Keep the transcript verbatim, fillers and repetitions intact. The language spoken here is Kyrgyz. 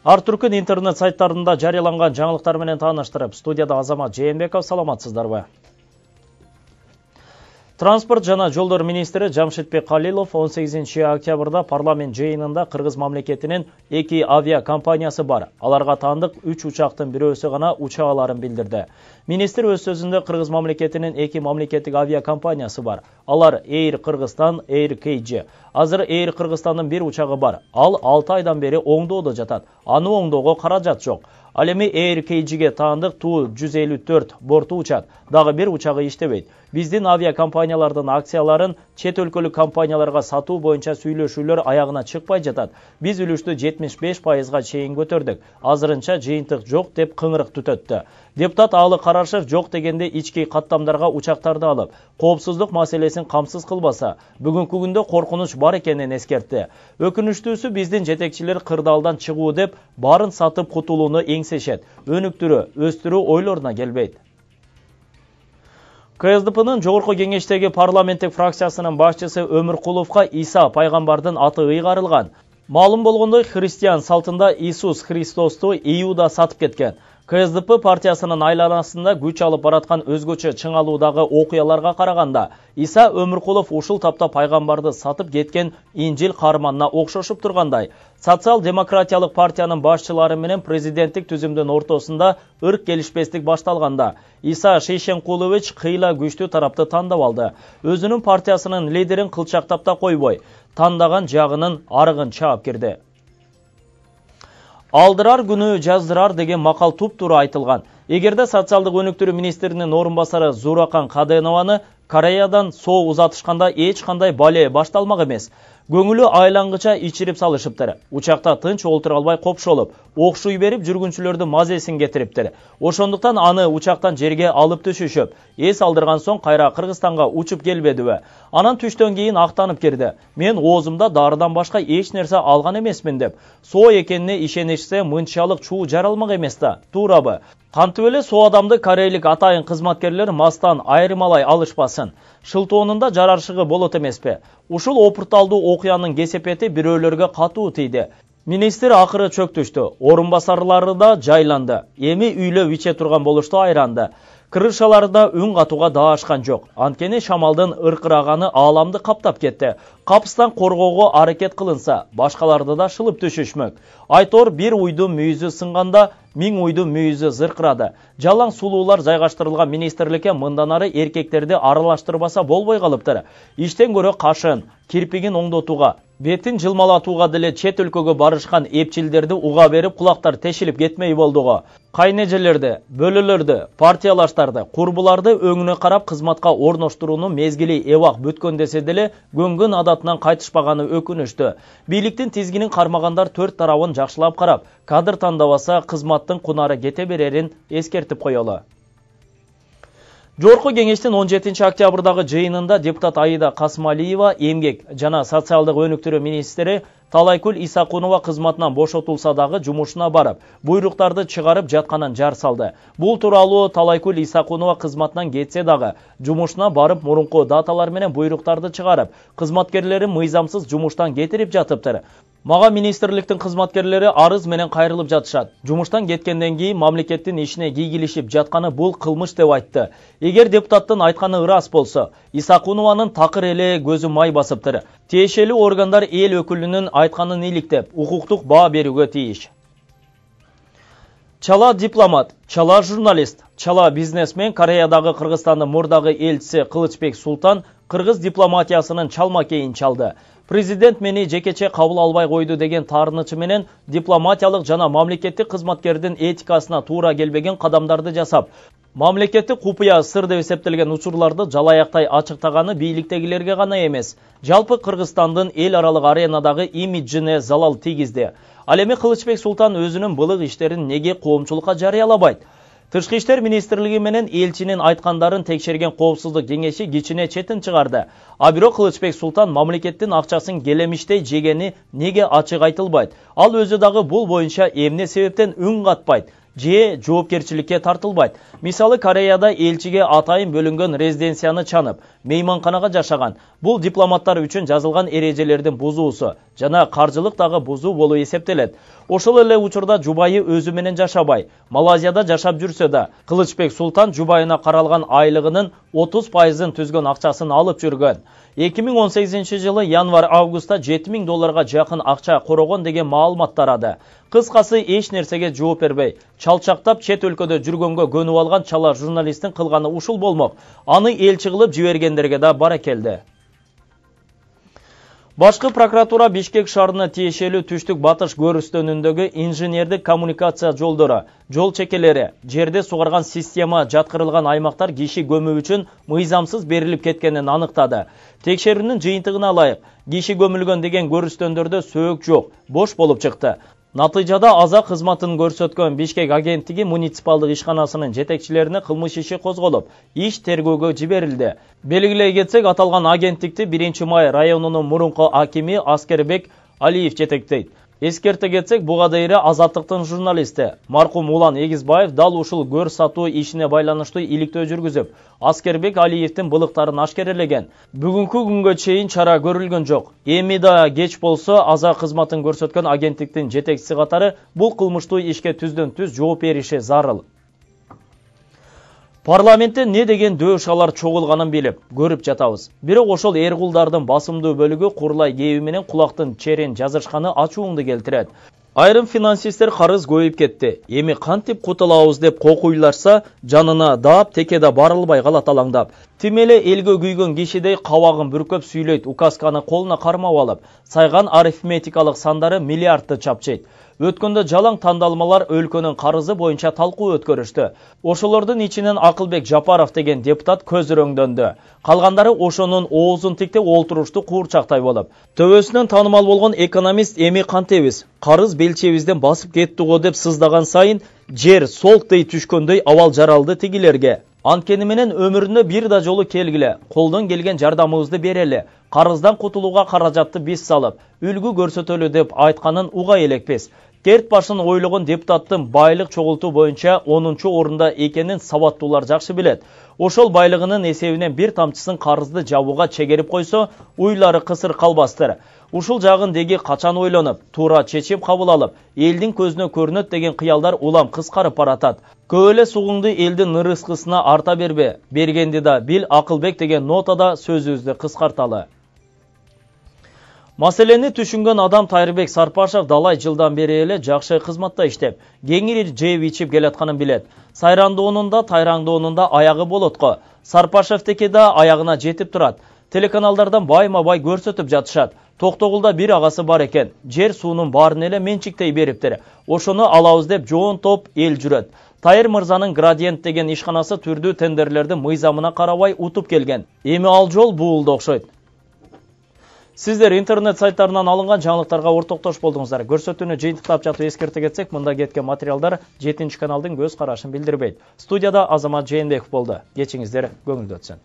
Ар түркүн интернет сайттарында жарыяланган жаңылыктар менен тааныштырып, студияда Азамат Жээнбеков, саламатсыздарбы? Транспорт жана жолдор министри Жамшитбек Калилов он сегизинчи октябрда парламент жыйынында Кыргыз мамлекетинин эки авиакомпаниясы бар. Аларга таандык үч учактын бирөөсү гана уча аларын билдирди. Министр өз сөзүндө Кыргыз мамлекетинин эки мамлекеттик авиакомпаниясы бар. Алар Air Кыргызстан, Air Kg. Азыр Air Кыргызстандын бир учагы бар. Ал алты айдан бери оңдоодо жатат. Аны оңдоого каражат жок. Ал эми Air Kg'ге таандык Ту жүз элүү төрт борту учат. Дагы бир учагы иштебейт. Биздин авиакомпаниялардын акцияларын чет өлкөлүк компанияларга сатуу боюнча сүйлөшүүлөр аягына чыкпай жатат. Биз үлүштү жетимиш беш пайызга чейин көтөрдүк. Азырынча жыйынтык жок деп кыңырык түтөттү. Депутат Аалы Карашев жок дегенде ички каттамдарга учактарды алып, коопсуздук маселесин камсыз кылбаса, бүгүнкү күндө коркунуч бар экенин эскертти. Өкүнүчтүүсү биздин жетекчилер кырдаалдан чыгуу деп баарын сатып кутулууну эңсешет. Өнүктүрүү, өстүрүү ойлоруна келбейт. КСДПнын жогорку кеңештеги парламенттик фракциясынын башчысы Өмүркуловго Иса пайгамбардын аты ыйгарылган. Маалым болгондой, христиан салтында Иисус Христосту Иуда сатып кеткен. КСДП партиясынын айланасында күч алып бараткан өзгөчө чыңалуудагы окуяларга караганда, Иса Өмүркулов ушул тапта пайгамбарды сатып кеткен Инжил каарманына окшошуп тургандай. Социал-демократиялык партиянын башчылары менен президенттик түзүмдүн ортосунда ырк келишпестик башталганда, Иса Шейшенкулович кыйла күчтүү тарапты тандап алды. Өзүнүн партиясынын лидерин кылчактап да койбой, тандаган жагынын арыгын чаап кирди. Алдырар күнү жаздырар деген макал туп-туура айтылган. Эгерде социалдык өнүктүрүү министринин орун басары Зуракан Каденованы Кореядан соо узатышканда эч кандай бале башталмак эмес. Көңүлү айлангыча ичирип салышыптыр. Учакта тынч олтура албай копшолуп, окшуй берип жүргүнчүлөрдүн мазесин кетириптир. Ошондуктан аны учактан жерге алып түшүшүп, эс алдырган соң кайра Кыргызстанга учуп келбедиби? Анан түштөн кийин актанып кирди. Мен оозумда дарыдан башка эч нерсе алган эмесмин деп. Соо экенине ишенишсе мынчалык чуу жаралмак эмес да, туурабы? Кантип эле соо адамды корейлик атайын кызматкерлер мастан айырмалай алышпасын. Шылтоонунда жараршыгы болот эмеспи? Ушул опурталдуу окуянын кесепети бирөөлөргө катуу тийди. Министр акыры чөктүштү, орун басарлары да жайланды. Эми үйлөп иче турган болушту айранды. Крышаларда үн катууга даашкан жок. Анткени шамалдын ыркыраганы ааламды каптап кетти. Капыстан коргоого аракет кылынса, башкаларды да шылып түшүшмөк. Айтор бир уйдун мүйүзү сынганда, миң уйдун мүйүзү зыркырады. Жалаң сулуулар жайгаштырылган министрликке мындан ары эркектерди аралаштырбаса болбой калыптыр. Иштен көрө кашын, кирпигин оңдотууга, бетин жылмалатууга деле чет өлкөгө барышкан эпчилдерди уга берип кулактар тешилип кетмей болдуго. Кайнежелерди, бөлөлөрдү, партиялаштарды, курбуларды өңүнө карап кызматка орноштуруунун мезгили эбак бүткөн десе деле көнгөн адатынан кайтышпаганы өкүнүштүү. Бийликтин тизгинин кармагандар төрт тарабын жакшылап карап, кадр тандабаса кызматтын кунары кете берерин эскертип коелу. Жогорку кеңештин он жетинчи октябрдагы жыйынында депутат Аида Касмалиева эмгек жана социалдык өнүктүрүү министри Талайкүл Исакунова кызматынан бошотулса дагы жумушуна барып, буйруктарды чыгарып жатканын жар салды. Бул тууралуу Талайкүл Исакунова кызматынан кетсе дагы жумушуна барып мурунку даталар менен буйруктарды чыгарып, кызматкерлерин мыйзамсыз жумуштан кетирип жатыптыр. Мага министрликтин кызматкерлери арыз менен кайрылып жатышат. Жумуштан кеткенден кийин мамлекеттин ишине кийгилишип жатканы бул кылмыш деп айтты. Эгер депутаттын айтканы ырас болсо, Исакунованын такыр эле көзү май басыптыр. Тиешелүү органдар эл өкүлүнүн айтканын иликтеп, укуктук баа берүүгө тийиш. Чала дипломат, чала журналист, чала бизнесмен Кореядагы Кыргызстандын мурдагы элчиси Кылычбек Султан кыргыз дипломатиясынын чалма кейин чалды. Президент мени жекече кабыл албай койду деген таарынычы менен дипломатиялык жана мамлекеттик кызматкердин этикасына туура келбеген кадамдарды жасап, мамлекеттик купуя сыр деп эсептелген учурларды жалаяктай ачыктаганы бийликтегилерге гана эмес, жалпы Кыргызстандын эл аралык аренадагы имиджине залал тийгизди. Ал эми Кылычбек Султан өзүнүн былык иштерин неге коомчулукка жарыялабайт? Тышкы иштер министрлиги менен элчинин айткандарын текшерген коопсуздук кеңеши кичине четин чыгарды. А бирок Кылычбек Султан мамлекеттин акчасын келемиштей жегени неге ачык айтылбайт? Ал өзү дагы бул боюнча эмне себептен үн катпайт? же жоопкерчиликке тартылбайт. Мисалы Кореяда элчиге атайын бөлүнгөн резиденцияны чанып, мейманканага жашаган. Бул дипломаттар үчүн жазылган эрежелердин бузуусу жана каржылык дагы бузуу болуп эсептелет. Ошол эле учурда жубайы өзү менен жашабай, Малайзияда жашап жүрсө да, Кылычбек Султан жубайына каралган айлыгынын отуз пайызын түзгөн акчасын алып жүргөн. эки миң он сегизинчи жылы январь-августта жети миң долларга жакын акча корогон деген маалымат тарады. Кыскасы эч нерсеге жооп бербей, чалчактап чет өлкөдө жүргөнгө көнүп алган чала журналисттин кылганы ушул болмок. Аны элчи кылып жибергендерге да баракелди. Башкы прокуратура Бишкек шаарына тиешелүү түштүк батыш көрүстөнүндөгү инженердик коммуникация жолдору, жол чекелери, жерде сугарган система жаткырылган аймактар киши көмүү үчүн мыйзамсыз берилип кеткенин аныктады. Текшерүүнүн жыйынтыгына ылайык, киши көмүлгөн деген көрүстөндөрдө сөөк жок, бош болуп чыкты. Натыйжада аза кызматын көрсөткөн Бишкек агенттиги муниципалдык ишканасынын жетекчилерине кылмыш иши козголуп, иш тергөөгө жиберилди. Белгилей кетсек, аталган агенттикти биринчи май районунун мурунку акими Аскербек Алиев жетектейт. Эскерте кетсек, буга дейре Азаттыктын журналисти маркум Улан Эгизбаев дал ушул көр сатуу ишине байланыштуу иликтөө жүргүзүп, Аскербек Алиевдин былыктарын ашкерелеген. Бүгүнкү күнгө чейин чара көрүлгөн жок. Эми да кеч болсо аза кызматын көрсөткөн агенттиктин жетекчиси катары бул кылмыштуу ишке түздөн түз жооп бериши зарыл. Парламентте не деген дөшалар чогулганын билип, көрүп жатабыз. Бирок ошол эркулдардын басымдуу бөлүгү курлай кээби менен кулактын черин жазышканы ачууңду келтирет. Айрым финансисттер карыз көйүп кетти. Эми кантип кутулабыз деп кокуйларса, жанына даап текеде барылбай калат алаңдап. Тим эле элгө күйгөн кишидей кабагын бүркөп сүйлөйт, указканы колуна кармап алып, сайган арифметикалык сандары миллиардты чапчыйт. Өткөндө жалаң тандалмалар өлкөнүн карызы боюнча талкуу өткөрүштү. Ошолордун ичинен Акылбек Жапаров деген депутат көзүрөңдөндү. Калгандары ошонун оозун тиктеп олтурушту куурчактай болуп. Төбөсүнөн таанымал болгон экономист эми кантебиз? Карыз белчебизден басып кетти го деп сыздаган сайын жер солтдей түшкөндөй абал жаралды тигилерге. Анткени менен өмүрүндө бир да жолу келгиле, колдон келген жардамыбызды берели, карыздан кутулууга каражатты биз салып, үлгү көрсөтөлү деп айтканын уга элекпиз. Керт башын ойлогон депутаттын байлык чогултуу боюнча онунчу орунда экенин сабаттуулар жакшы билет. Ошол байлыгынын эсебинен бир тамчысын карызды жабууга чегерип койсо, уйлары кысыр калбастыр. Ушул жагын деги качан ойлонуп, туура чечим кабыл алып, элдин көзүнө көрүнөт деген кыялдар улам кыскарып баратат. Көп эле сугуңду элдин ырыскысына арта бербе, бергенди да бил Акылбек деген нотада сөзүбүздү кыскарталы. Маселени түшүнгөн адам Тайырбек Сарпашев далай жылдан бери эле жакшы кызматта иштеп, кеңири жеп ичип келатканын билет. Сайрандоонунда, Тайраңдоонунда аягы болотко. Сарпашевтеки да аягына жетип турат. Телеканалдардан байма-бай көрсөтүп жатышат. Токтогулда бир агасы бар экен. Жер суунун баарын эле менчиктей бериптир. Ошону алабыз деп жоон топ эл жүрөт. Тайыр мырзанын Градиент деген ишканасы түрдүү тендерлерди мыйзамына карабай утуп келген. Эми ал жол буулду окшойт. Сиздер интернет сайттарынан алынган жаңылыктарга ортоктош болдуңуздар. Көрсөтүүнү жыйынтыктап жатып эскерте кетсек, мында кеткен материалдар жетинчи каналдын көз карашын билдирбейт. Студияда Азамат Жээнбеков болду. Кечиңиздер көңүлдүү өтсүн.